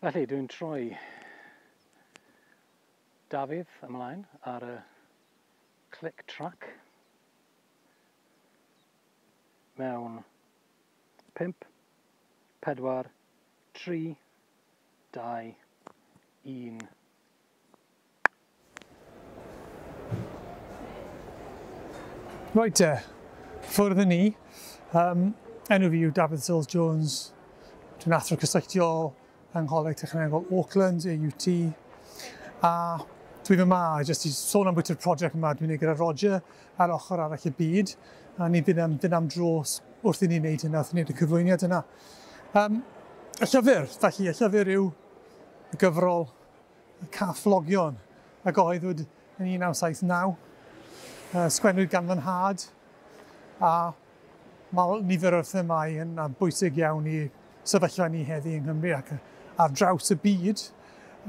Felly, dwi'n troi Dafydd ymlaen ar y click track mewn 5, 4, 3, 2, 1. Reit te, ffwrdd â ni. Enw fi yw Dafydd Sills Jones. Dwi'n athro cysylltiol yng Ngholeg Technegol Auckland, AUT. A dwi yma jyst i sôn am bwyty'r prosiect yma dwi'n ei gyda Roger ar ochr arall y byd. A ni fynd am, fynd am dro wrth i ni wneud hynna, wrth i ni wneud y cyflwyniad yna. Y llyfr, felly, y llyfr yw y gyfrol Y Cafflogion, a gyhoeddwyd yn 1979. Sgwennwyd gan fy nhad, a mae nifer o'r themâu yn bwysig iawn i sefyllfa ni heddi yng Nghymru ac ar draws y byd.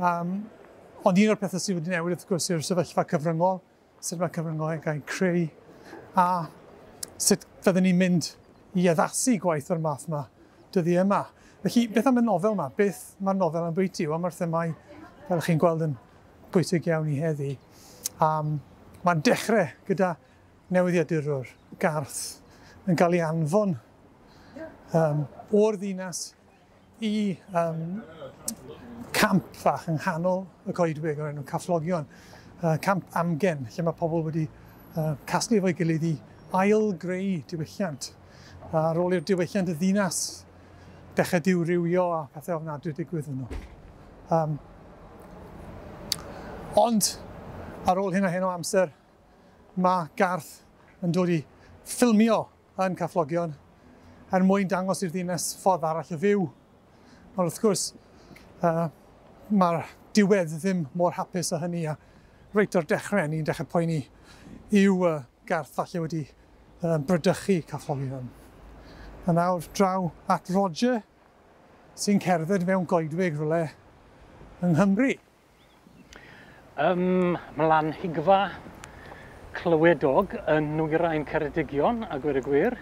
Ond un o'r pethau sydd wedi newid, wrth gwrs, yw'r sefyllfa cyfryngol, sut mae cyfryngau yn cael eu creu, a sut fyddwn ni'n mynd i addasu gwaith o'r math yma dyddiau yma. Felly, beth am y nofel yma? Beth mae'r nofel yn bwyty? Wel, mae'r themâu, fel chi'n gweld, yn bwysig iawn i heddi. Mae'n dechrau gyda newyddiadurwr, Garth, yn cael ei anfon o'r ddinas i camp fach yng nghanol y coedwig o'r enw Cafflogion, camp amgen, lle mae pobl wedi casglu efo'i gilydd i ail-greu diwylliant. Ar ôl i'r diwylliant y ddinas dechrau diwrywio a pethau ofnadwy digwydd yno. Ond ar ôl hyn a hyn o amser, mae Garth yn dod i ffilmio yn Cafflogion er mwyn dangos i'r ddinas ffordd arall o fyw. Ond wrth gwrs, mae'r diwedd ddim mor hapus â hynny, a reit o'r dechrau ni'n dechrau poeni yw Garth falle wedi bradychu Cafflogion. A nawr draw at Roger, sy'n cerdded mewn goedwig rhywle yng Nghymru. Ym Mhlanhigfa Clywedog yn Nwyrain Ceredigion, a gweud y gwir.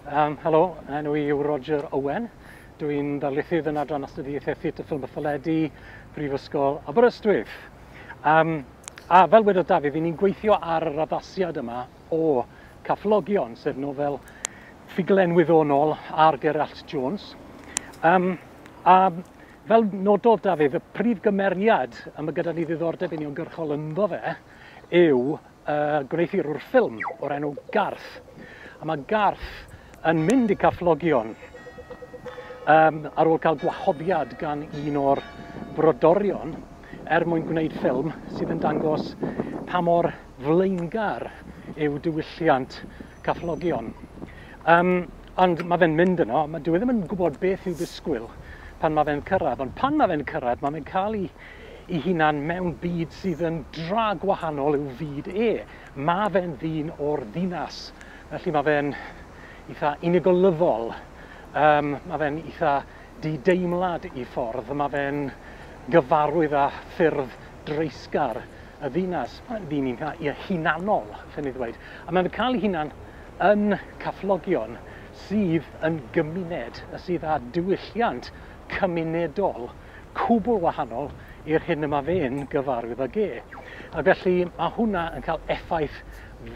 Helo, enw i yw Roger Owen. Dwi'n ddarlithydd yn adran astudiaethau Theatr Ffilm a Theledu, Prifysgol Aberystwyth. A fel wedodd Dafydd, ni'n gweithio ar yr addasiad yma o Cafflogion, sef nofel ffuglen wyddonol ar Gerallt Jones. A fel nododd Dafydd, y prif gymeriad y mae gyda ni ddiddordeb uniongyrchol ynddo fe yw gwneuthurwr ffilm o'r enw Garth. A mae Garth yn mynd i Cafflogion ar ôl cael gwahoddiad gan un o'r brodorion er mwyn gwneud ffilm sydd yn dangos pa mor flaengar yw diwylliant Cafflogion. Ond mae fe'n mynd yno, dyw e ddim yn gwybod beth i'w ddisgwyl pan mae fe'n cyrraedd, ond pan mae fe'n cyrraedd, mae fe'n cael ei hunan mewn byd sydd yn dra gwahanol i'w fyd e. Mae fe'n ddyn o'r ddinas, felly mae fe'n eitha unigolyddol, mae fe'n eitha dideimlad i ffordd, mae fe'n gyfarwydd â ffyrdd dreisgar y ddinas. Mae'n ddyn eitha hunanol, allen ni ddweud. A mae'n cael ei hunan yn Cafflogion, sydd yn gymuned, sydd â diwylliant cymunedol cwbl wahanol i'r hyn y mae fe'n gyfarwydd ag e. A felly mae hwnna yn cael effaith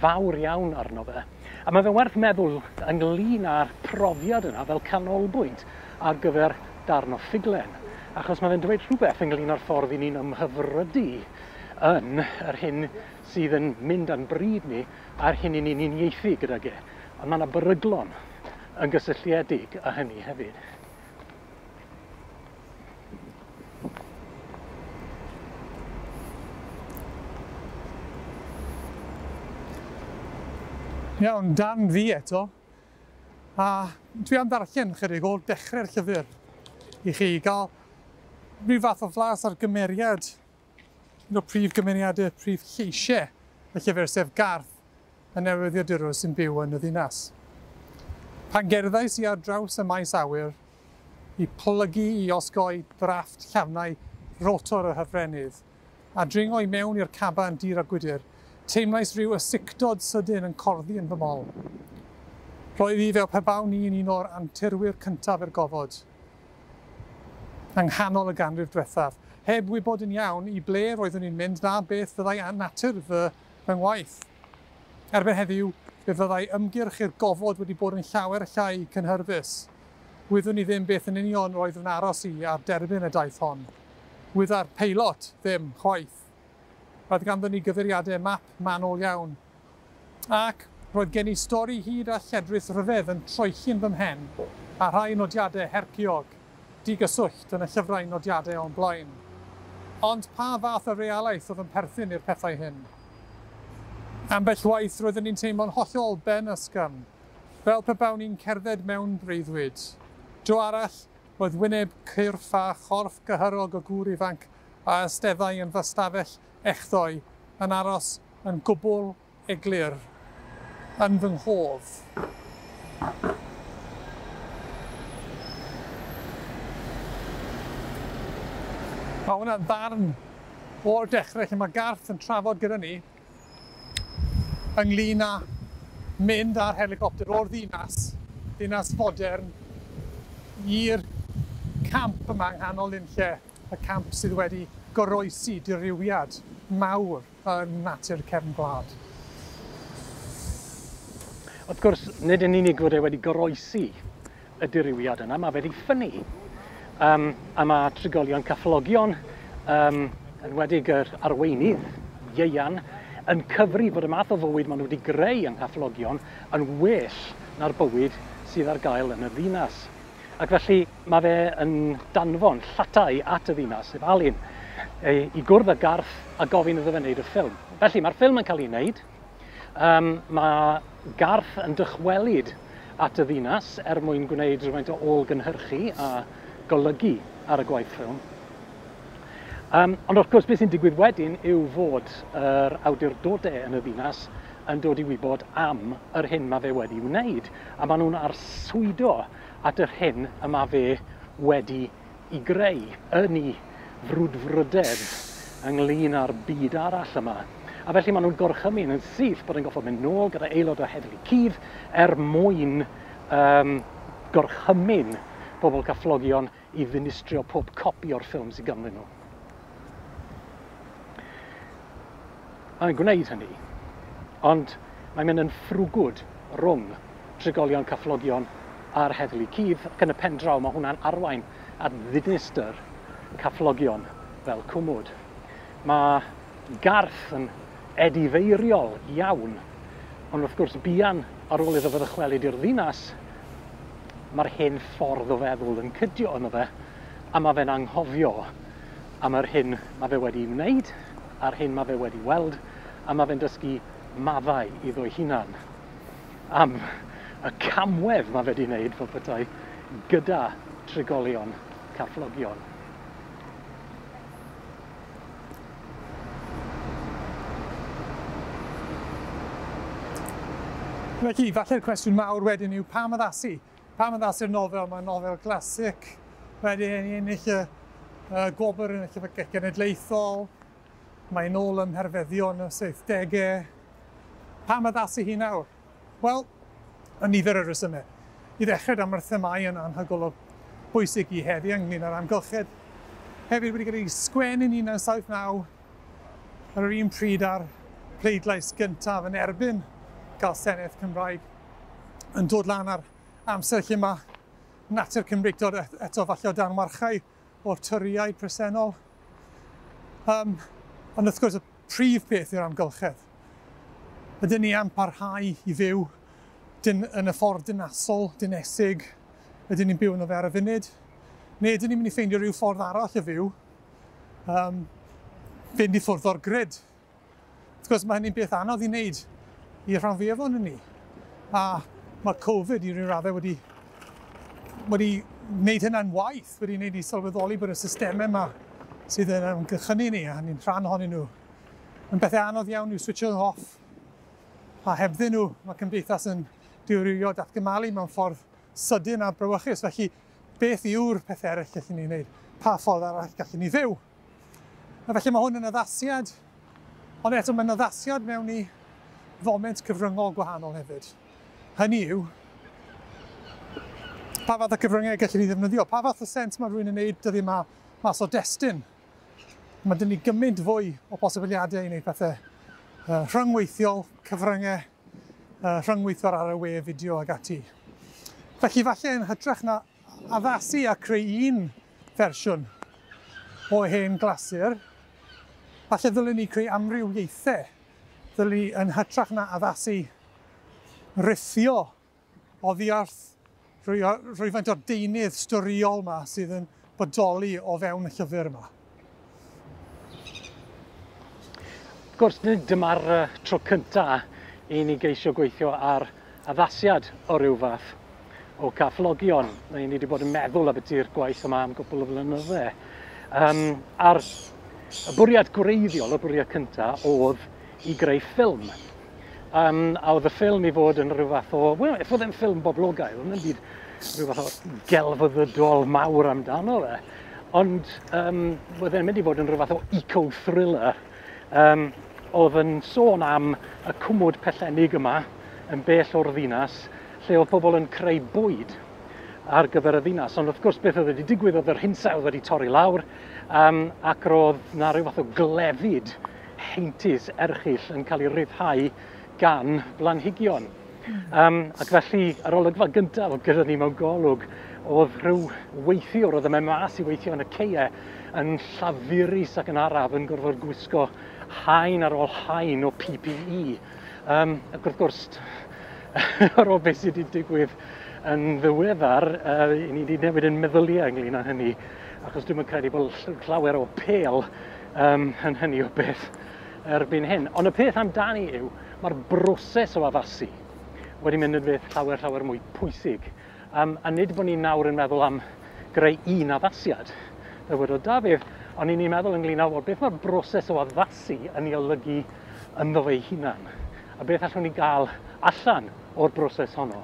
fawr iawn arno fe. A mae fe'n werth meddwl ynglyn â'r profiad yna fel canolbwynt ar gyfer darn o ffuglen, achos mae fe'n dweud rhywbeth ynglyn â'r ffordd i ni'n ymhyfrydu yn yr hyn sydd yn mynd â'n bryd ni a'r hyn i ni'n uniaethu gydag e. Ond mae yna beryglon yn gysylltiedig â hynny hefyd. Iawn, dan fi eto. A dwi am ddarllen chydig o'r dechrau'r llyfr i chi gael rhyw fath o flas ar gymeriad, un o'r prif gymeriadau, prif lleisiau y llyfr, sef Garth, y newyddiadurwr sy'n byw yn y ddinas. Pan gerddais i ar draws y maes awyr i plygu i osgoi drafft llafnau rotor y hyfrenydd a dringo i mewn i'r caban dir a gwydr, teimlais rhyw ysicdod sydyn yn corddi yn fy mol. Roedd hi fel pe bawn i'n un o'r anturwyr cyntaf i'r gofod. yng nghanol y ganrif diwethaf, heb wybod yn iawn i ble roeddwn i'n mynd na beth fyddai natur fy ngwaith. Erbyn heddiw, fe fyddai ymgyrch i'r gofod wedi bod yn llawer llai cynhyrfus. Wyddwn i ddim beth yn union roedd yn aros i ar derbyn y daith hon. Wydda'r peilot ddim chwaith. Roedd ganddon ni gyfeiriadau map manwl iawn. Ac roedd gen i stori hyd a lledrith rhyfedd yn troelli'n fy mhen, a rhai nodiadau herciog, digyswllt yn y llyfrau nodiadau o'n blaen. Ond pa fath o realaeth oedd yn perthyn i'r pethau hyn? Ambell waith roeddwn i'n teimlo'n hollol ben ysgafn, fel pe bawn i'n cerdded mewn breuddwyd. Dro arall, roedd wyneb cyrff a chorff gyhyrog o gŵr ifanc a eisteddai yn fy ystafell echddoe yn aros yn gwbl eglur yn fy nghof. Mae hwnna'n ddarn o'r dechrau lle mae Garth yn trafod gyda ni ynglyn â mynd ar helicopter o'r ddinas, ddinas fodern, i'r camp yma yng nghanol unlle, y camp sydd wedi goroesi dirywiad mawr yn natur cefn gwlad. Wrth gwrs, nid yn unig fod e wedi goroesi y dirywiad yna, mae fe wedi ffynnu. A mae trigolion Cafflogion, enwedig yr arweinydd, Ieuan, yn cyfri fod y math o fywyd maen nhw wedi greu yng Nghafflogion yn well na'r bywyd sydd ar gael yn y ddinas. Ac felly mae fe yn danfon llatai at y ddinas, sef Alun, i gwrdd â Garth a gofyn iddo fe wneud y ffilm. Felly mae'r ffilm yn cael ei wneud. Mae Garth yn dychwelyd at y ddinas er mwyn gwneud rhywfaint o ôl-gynhyrchu a golygu ar y gwaith ffilm. Ond wrth gwrs, beth sy'n digwydd wedyn yw fod yr awdurdodau yn y ddinas yn dod i wybod am yr hyn mae fe wedi wneud. A maen nhw'n arswydo at yr hyn y mae fe wedi i greu yn ei frwdfrydedd ynglyn â'r byd arall yma. A felly maen nhw'n gorchymyn yn syth bod yn goffod mynd nôl gyda aelod o heddlu cudd er mwyn gorchymyn pobl Cafflogion i ddinistrio pob copi o'r ffilm sydd ganddyn nhw. Mae'n gwneud hynny, ond mae'n mynd yn ffrwgwd rhwng trigolion Cafflogion a'r heddlu cudd, ac yn y pen draw mae hwnna'n arwain at ddinistr Cafflogion fel cwmwd. Mae Garth yn edifeiriol iawn, ond wrth gwrs buan ar ôl iddo fe ddychwelyd i'r ddinas, mae'r hen ffordd o feddwl yn cydio yno fe, a mae fe'n anghofio am yr hyn mae fe wedi wneud, a'r hyn mae fe wedi weld, a mae fe'n dysgu maddau iddo'i hunan am y camwedd mae fe wedi wneud fel petai gyda trigolion Cafflogion. Felly, falle'r cwestiwn mawr wedyn yw pam addasu? Pam addasu'r nofel? Mae'n nofel glasig, wedi ennill y gwobr yn y Llyfrgell Genedlaethol, mae'n ôl ym mherfeddion y 70au. Pam addasu hi nawr? Wel, y nifer o resymau. I ddechrau, da, mae'r themâu yn anhygoel o bwysig i heddi ynglyn â'r amgylchedd. Hefyd wedi cael ei sgwennu'n 1979 ar yr un pryd â'r pleidlais gyntaf yn erbyn gael Senedd Cymraeg yn dod lan ar amser lle mae natur Cymreictod eto falle o dan warchau o'r Torïaid presennol. Ond wrth gwrs y prif peth yw'r amgylchedd. Ydyn ni am parhau i fyw yn y ffordd dynasol, dinesig, ydyn ni'n byw yno fe ar y funud, neu ydyn ni'n mynd i ffeindio rhyw ffordd arall i fyw, fynd i ffwrdd o'r grid. Wrth gwrs mae hynny'n beth anodd i wneud i'r rhan fwyaf ohonyn ni. A mae Covid i ryw raddau wedi wneud hynna'n waith, wedi wneud i sylweddoli bod y systemau yma sydd yn ymgyrchynu ni, a ni'n rhan ohonyn nhw, yn bethau anodd iawn i'w switcho off. A hebddyn nhw, mae cymdeithas yn dirywio datgymalu mewn ffordd sydyn a brawychus. Felly, beth yw'r peth eraill gallwn ni wneud? Pa ffordd arall gallwn ni fyw? A felly mae hwn yn addasiad, ond eto mae'n addasiad mewn i foment cyfryngol gwahanol hefyd. Hynny yw, Pa fath o cyfryngau gallwn ni ddefnyddio? Pa fath o sens mae rhywun yn gwneud dyddiau yma mas o destun? Mae dyn ni gymaint fwy o posibiliadau i wneud pethau rhyngweithiol, cyfryngau, rhyngweithio ar y we, fideo ag ati. Felly falle yn hytrach na addasu a creu un fersiwn o hen glasur, falle ddylen ni creu amrywiaethau. Ddylen ni yn hytrach na addasu rithio oddi wrth rhywfaint o'r deunydd storïol yma sydd yn bodoli o fewn y llyfr yma. Wrth gwrs, nid dyma'r tro cyntaf i ni geisio gweithio ar addasiad o ryw fath o Cafflogion. Ni wedi bod yn meddwl ambiti'r gwaith yma am gwpl o flynydde. A'r y bwriad gwreiddiol, y bwriad cyntaf, oedd i greu ffilm. A oedd y ffilm i fod yn rhyw fath o, wel, if oedd e'n ffilm boblogaidd, oedd yn byd rhyw fath o gelfyddydol mawr amdano fe. Ond oedd e'n mynd i fod yn rhyw fath o eco-thriller. Oedd yn sôn am y cwmwd pellennig yma yn bell o'r ddinas, lle oedd pobl yn creu bwyd ar gyfer y ddinas. Ond wrth gwrs beth oedd wedi digwydd oedd yr hinsawdd wedi torri lawr, ac roedd na rhyw fath o glefyd heintus erchyll yn cael ei ryddhau gan blanhigion. Ac felly, yr olygfa gyntaf oedd gyda ni mewn golwg oedd rhyw weithiwr oedd yn mynd mas i weithio yn y ceie yn llafurus ac yn araf yn gorfod gwisgo haen ar ôl haen o PPE. Ac wrth gwrs, ar ôl beth sydd wedi digwydd yn ddiweddar, ni wedi newid yn meddyliau ynglyn â hynny, achos dwi'm yn credu bod llawer o apêl yn hynny o beth erbyn hyn. Ond y peth amdani yw, mae'r broses o addasu wedi mynd yn beth llawer, llawer mwy pwysig. A nid bod ni nawr yn meddwl am greu un addasiad, fel wedodd Dafydd, ond ni'n meddwl ynglyn â, wel, beth mae'r broses o addasu yn ei olygu ynddo fe'i hunan, a beth allwn ni gael allan o'r broses honno.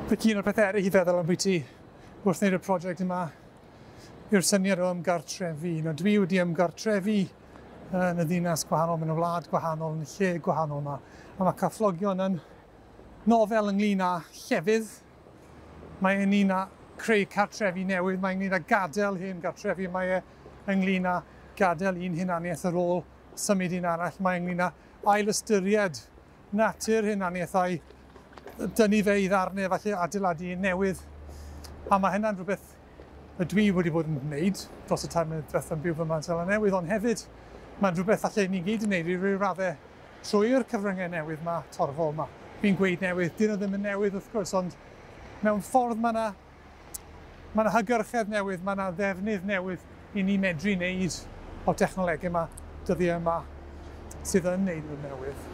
Felly un o'r pethau eraill i feddwl ambiti wrth wneud y prosiect yma yw'r syniad o ymgartrefu. Nawr, dwi wedi ymgartrefu yn y ddinas gwahanol, mewn y wlad gwahanol, yn y lle gwahanol yma. A mae Cafflogion yn nofel ynglyn â llefydd. Mae ynglyn â creu cartrefi newydd, mae ynglyn â gadael hen gartrefi, mae e ynglyn â gadael un hunaniaeth ar ôl symud un arall, mae ynglyn â ailystyried natur hunaniaeth a'i dynnu fe i ddarnau, falle adeiladu un newydd. A mae hynna'n rhywbeth y dwi wedi bod yn gwneud dros y 3 mlynedd diwethaf yn byw fy Seland Newydd, ond hefyd mae'n rhywbeth falle ni gyd yn gwneud i ryw raddau trwy'r cyfryngau newydd yma, torfol yma. Fi'n gweud newydd, dyn nhw ddim yn newydd wrth gwrs, ond mewn ffordd mae yna hygyrchedd newydd, mae yna ddefnydd newydd i ni medru wneud o'r technolegau yma, dyddiau yma, sydd yn wneud nhw'n newydd.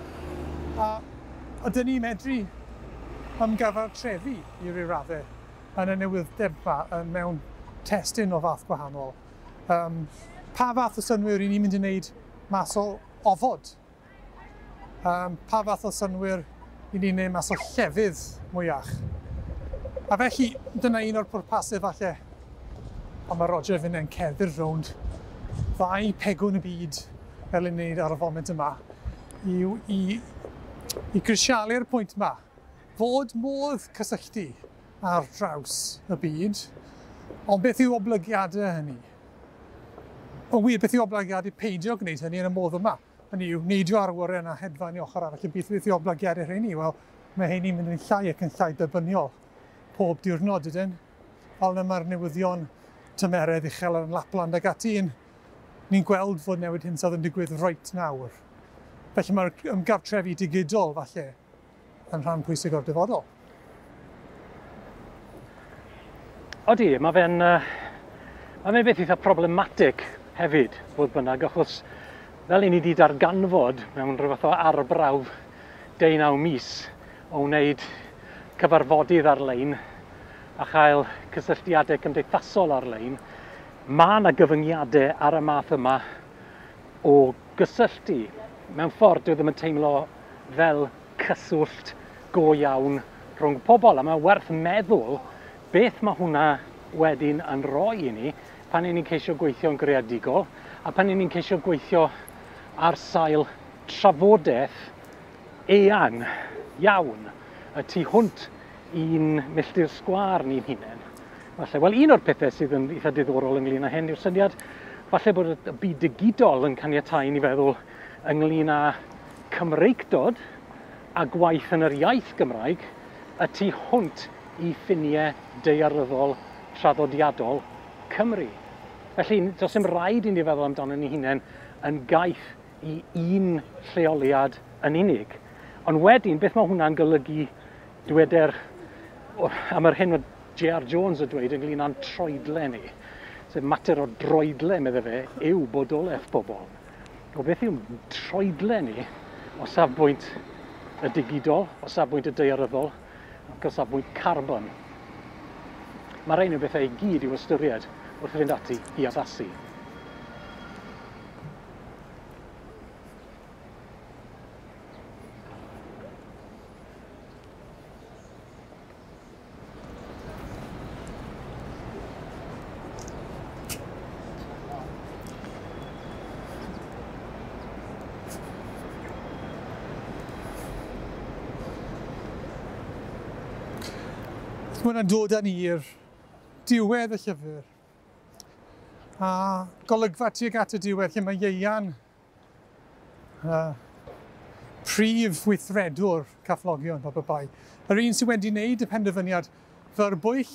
A ydyn ni medru ymgyfartrefu i ryw raddau yn y newydd-deb yma mewn testun o fath gwahanol. Pa fath o synnwyr i ni'n mynd i wneud mas o ofod? Pa fath o synnwyr i ni'n wneud mas o llefydd mwyach? A felly, dyna un o'r pwrpasau falle. Ond mae Roger fynd yn cerdded rownd ddau pegwn y byd fel i'n wneud ar y foment yma yw i grisialu'r pwynt yma. Fod modd cysylltu ar draws y byd, ond beth yw oblygiadau hynny? Ond wir, beth yw oblygiadau peidio gwneud hynny yn y modd yma? Hynny yw, neidio ar awyren a hedfan i ochr arall y byd, beth yw oblygiadau rheini? Wel, mae heini'n mynd yn llai ac yn llai derbyniol pob diwrnod, ydyn? Fel yna mae'r newyddion tymeredd uchel yn Lapland ac ati, ni'n gweld fod newid hinsawdd yn digwydd reit nawr. Felly mae'r ymgartrefu digidol, falle, yn rhan pwysig o'r dyfodol. Odi, mae fe'n beth eitha problematic hefyd, fodd bynnag, achos fel i ni wedi darganfod mewn rhyw fath o arbrawf 19 mis o wneud cyfarfodydd ar-lein a chael cysylltiadau cymdeithasol ar-lein, mae yna gyfyngiadau ar y math yma o gysylltu. Mewn ffordd, dwi ddim yn teimlo fel cyswllt go iawn rhwng pobl, a mae werth meddwl beth mae hwnna wedyn yn rhoi i ni pan ni'n ceisio gweithio'n greadigol a pan ni'n ceisio gweithio ar sail trafodaeth eang iawn y tu hwnt i'n milltir sgwâr ni'n hunain. Falle, wel, un o'r pethau sydd yn eitha diddorol ynglyn â hyn yw'r syniad falle bod y byd digidol yn caniatáu i ni feddwl ynglyn â Cymreictod a gwaith yn yr iaith Gymraeg y tu hwnt i ffiniau daearyddol traddodiadol Cymru. Felly, does dim rhaid i ni feddwl amdano ni hunain yn gaeth i un lleoliad yn unig. Ond wedyn, beth mae hwnna'n golygu, dyweder, am yr hyn oedd J.R. Jones yn dweud ynglyn â'n troedle ni. Sef mater o droedle, medde fe, yw bodolaeth bobl. O beth yw'n troedle ni o safbwynt y digidol, o safbwynt y daearyddol, ac o safbwynt carbon. Mae rhain yn bethau i gyd i'w ystyried wrth fynd ati i addasu. Mae hwnna'n dod â ni i'r diwedd y llyfr. A golygfa tuag at y diwedd lle mae Ieuan, prif weithredwr Cafflogion, Papa Bai. Yr un sydd wedi wneud y penderfyniad fyrbwyll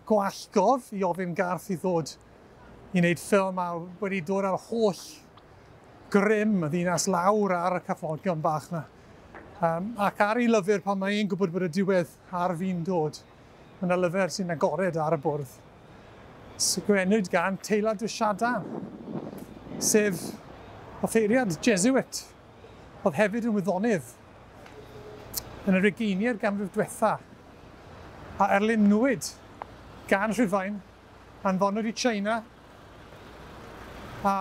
gwallgof i ofyn Garth i ddod i wneud ffilm a wedi dod â'r holl grym y ddinas lawr ar y Cafflogion bach yna. Ac ar ei lyfr pan mae e'n gwybod bod y diwedd ar fin dod, mae yna lyfr sy'n agored ar y bwrdd. Sgwennwyd gan Teilhard de Chardin, sef offeiriad Jesuit, oedd hefyd yn wyddonydd yn yr ugeiniau'r ganrif diwetha, a erlynwyd gan Rhufain, anfonwyd i China, a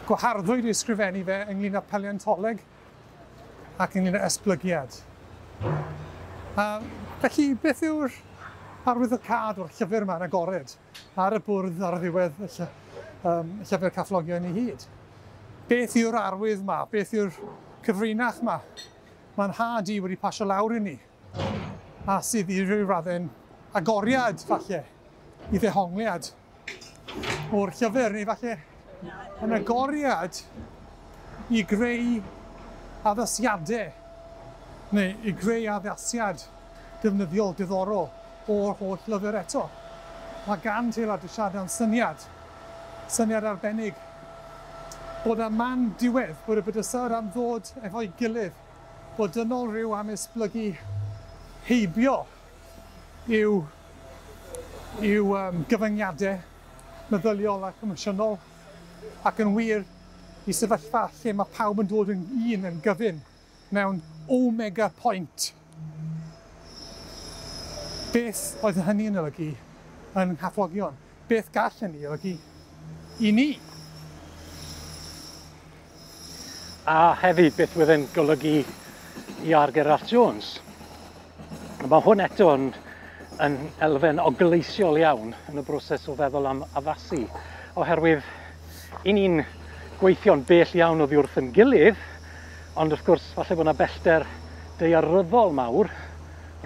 gwaharddwyd i ysgrifennu fe ynglyn â paleontoleg ac ynglyn â esblygiad. Felly, beth yw'r arwyddocâd o'r llyfr yma'n agored ar y bwrdd ar ddiwedd y llyfr Cafflogion i hyd? Beth yw'r arwydd yma? Beth yw'r cyfrinach yma? Mae'n nhad i wedi pasio lawr i ni, a sydd i ryw raddau'n agoriad, falle, i ddehongliad o'r llyfr, neu falle yn agoriad i greu addasiadau, neu i greu addasiad defnyddiol, diddorol o'r holl lyfr eto. Mae gan Teilhard de Chardin syniad, syniad arbennig, bod y man diwedd, bod y bydysawd am ddod efo'i gilydd, bod dynol rhyw am esblygu heibio i'w gyfyngiadau meddyliol ac emosiynol, ac yn wir i sefyllfa lle mae pawb yn dod yn un yn gyfun mewn omega point. Beth oedd hynny yn olygu yn Cafflogion? Beth gall hynny olygu i ni? A hefyd, beth wedd e'n golygu i R. Gerallt Jones? Mae hwn eto yn elfen ogleisiol iawn yn y broses o feddwl am addasu, oherwydd i ni'n gweithio'n bell iawn oddi wrth yn gilydd, ond wrth gwrs falle bod yna bellter daearyddol mawr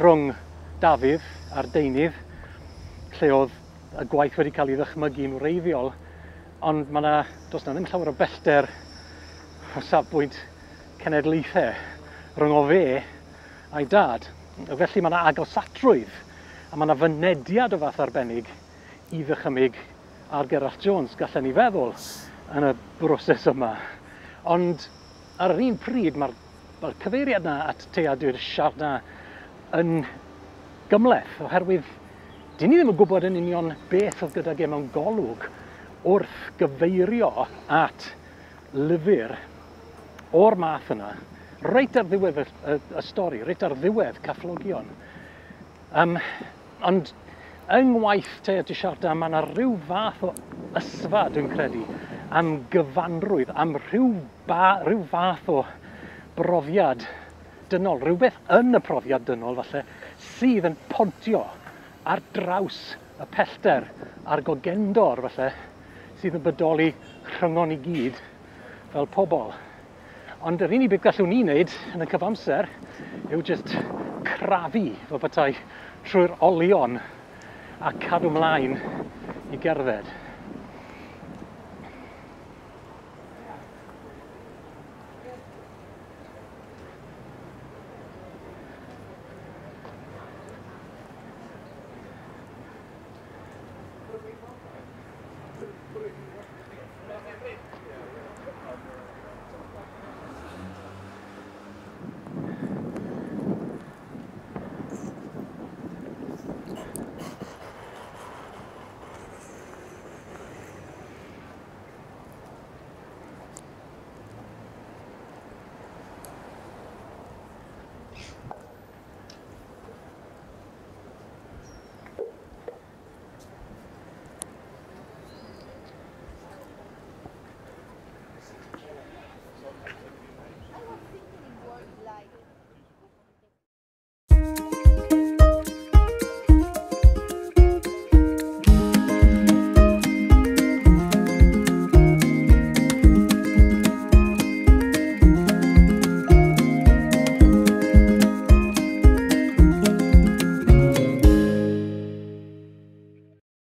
rhwng Dafydd a'r deunydd, lle oedd y gwaith wedi cael ei ddychmygu'n wreiddiol, ond mae yna, does yna ddim llawer o bellter o safbwynt cenedlaethau rhwng o fe a'i dad. Felly mae yna agosatrwydd a mae yna fynediad o fath arbennig i ddychymyg ar Gerallt Jones, gallen ni feddwl, yn y broses yma. Ond ar yr un pryd, mae'r cyfeiriad yna at Teilhard de Chardin yn gymhleth, oherwydd dyn ni ddim yn gwybod yn union beth oedd gydag e mewn golwg wrth gyfeirio at lyfr o'r math yna, reit ar ddiwedd y stori, reit ar ddiwedd Cafflogion. Ond yng ngwaith Teilhard de Chardin, mae yna rhyw fath o ysfa, dwi'n credu, am gyfanrwydd, am rhyw fath o brofiad dynol, rhywbeth yn y profiad dynol falle, sydd yn pontio ar draws Y pellter a'r gogendor, falle, sydd yn bodoli rhyngon ni gyd fel pobl. Ond yr unig beth gallwn ni wneud yn y cyfamser yw just crafu fel petai trwy'r olion a cadw mlaen i gerdded.